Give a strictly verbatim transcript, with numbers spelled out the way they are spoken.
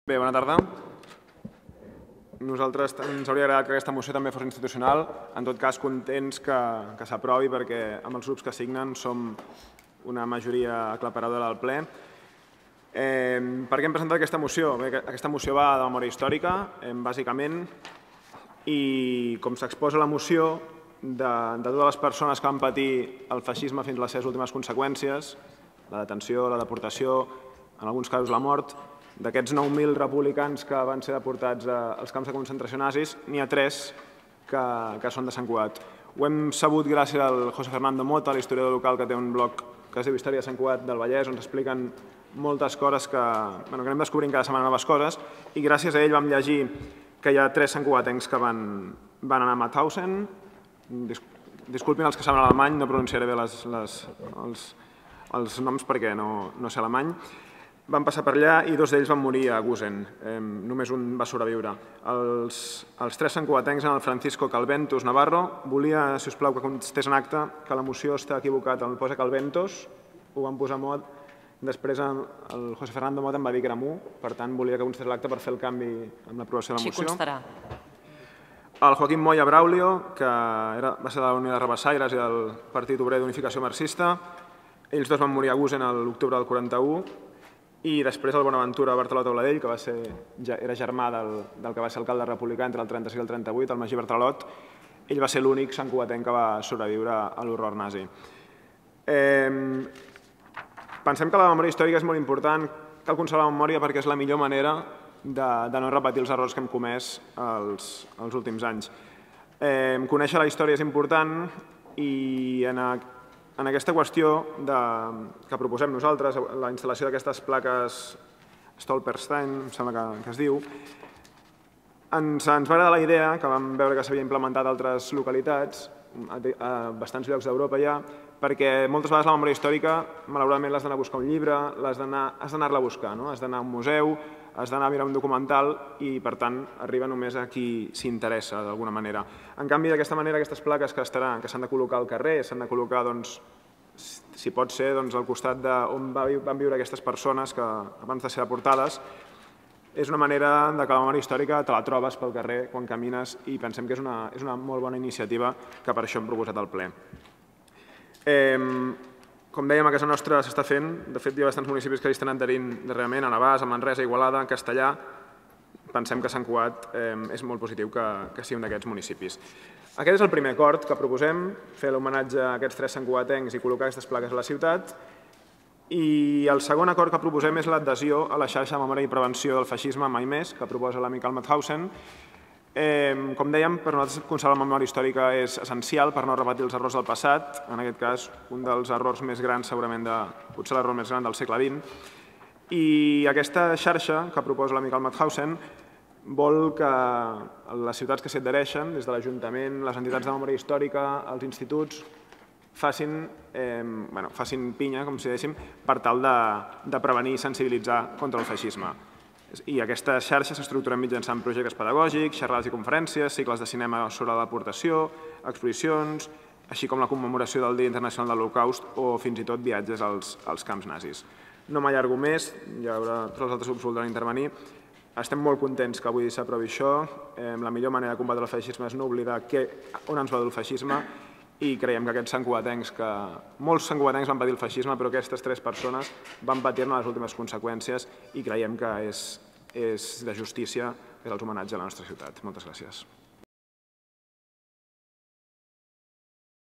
Bé, bona tarda. Nosaltres ens hauria agradat que aquesta moció també fos institucional. En tot cas, contents que, que s'aprovi perquè amb els grups que signen som una majoria aclaparadora del ple. Eh, per què hem presentat aquesta moció? Bé, aquesta moció va de memòria històrica, eh, bàsicament, i com s'exposa la moció, de, de totes les persones que van patir el feixisme fins a les seves últimes conseqüències, la detenció, la deportació, en alguns casos la mort, d'aquests nou mil republicans que van ser deportats als camps de concentració nazis, n'hi ha tres que, que són de Sant Cugat. Ho hem sabut gràcies al José Fernando Mota, l'historiador local que té un blog que es diu Història de Sant Cugat del Vallès, on s'expliquen moltes coses que, bueno, que anem descobrint cada setmana noves coses, i gràcies a ell vam llegir que hi ha tres santcugatencs que van, van anar a Mauthausen. Disculpin els que saben alemany, no pronunciaré bé les, les, els, els noms perquè no, no sé alemany. Van passar per allà i dos d'ells van morir a Gusen. Eh, només un va sobreviure. Els, els tres santcugatencs eren el Francisco Calventos Navarro. Volia, si us plau, que constés en acte que la moció està equivocat, on posa Calventos, ho van posar Mot. Després el José Fernando Mot em va dir que era Mu, per tant volia que constés l'acte per fer el canvi amb l'aprovació de la moció. Sí, constarà. El Joaquim Moya Braulio, que era, va ser de la Unió de Rabassaires i del Partit Obrer d'Unificació Marxista. Ells dos van morir a Gusen a l'octubre del quaranta-u. I després el Bonaventura Bartoló Tauladell, que va ser, ja era germà del, del que va ser alcalde republicà entre el trenta-sis i el trenta-vuit, el Magí Bartralot. Ell va ser l'únic santcugatenc que va sobreviure a l'horror nazi. Eh, pensem que la memòria històrica és molt important, cal conservar la memòria perquè és la millor manera de, de no repetir els errors que hem comès els, els últims anys. Eh, conèixer la història és important i en a, En aquesta qüestió de, que proposem nosaltres, la instal·lació d'aquestes plaques Stolperstein, em sembla que, que es diu, ens, ens va agradar la idea, que vam veure que s'havia implementat a altres localitats, a, a bastants llocs d'Europa ja, perquè moltes vegades la memòria històrica, malauradament, l'has d'anar a buscar un llibre, has d'anar-la a buscar, no? Has d'anar a un museu, has d'anar a mirar un documental i, per tant, arriba només a qui s'interessa, d'alguna manera. En canvi, d'aquesta manera, aquestes plaques que s'han de col·locar al carrer, s'han de col·locar, doncs, si pot ser, al costat d'on van viure aquestes persones que abans de ser deportades, és una manera que la memòria històrica te la trobes pel carrer quan camines i pensem que és una, és una molt bona iniciativa que per això hem proposat al ple. Eh, Com dèiem, a casa nostra s'està fent. De fet, hi ha bastants municipis que hi estan adherint darrerament, a Navàs, a Manresa, a Igualada, a Castellà. Pensem que Sant Cugat eh, és molt positiu que, que sigui un d'aquests municipis. Aquest és el primer acord que proposem, fer l'homenatge a aquests tres santcugatencs i col·locar aquestes plaques a la ciutat. I el segon acord que proposem és l'adhesió a la xarxa de memòria i prevenció del feixisme Mai Més, que proposa l'amic Mauthausen. Eh, com dèiem, per nosaltres conservar la memòria històrica és essencial per no repetir els errors del passat, en aquest cas un dels errors més grans, segurament, de, potser l'error més gran del segle vint. I aquesta xarxa que proposa l'amic Mauthausen vol que les ciutats que s'hi adhereixen, des de l'Ajuntament, les entitats de memòria històrica, els instituts, facin, eh, bueno, facin pinya, com si dèiem, per tal de, de prevenir i sensibilitzar contra el feixisme. I aquesta xarxa s'estructura mitjançant projectes pedagògics, xerrades i conferències, cicles de cinema sobre la deportació, exposicions, així com la commemoració del Dia Internacional de l'Holocaust o fins i tot viatges als, als camps nazis. No m'allargo més, ja haurà, tots els altres grups voldran intervenir. Estem molt contents que avui s'aprovi això. Eh, la millor manera de combatre el feixisme és no oblidar que, on ens va dur el feixisme i creiem que aquests santcugatencs, que molts santcugatencs van patir el feixisme, però aquestes tres persones van patir-ne les últimes conseqüències i creiem que és, és de justícia fer els homenatge a la nostra ciutat. Moltes gràcies.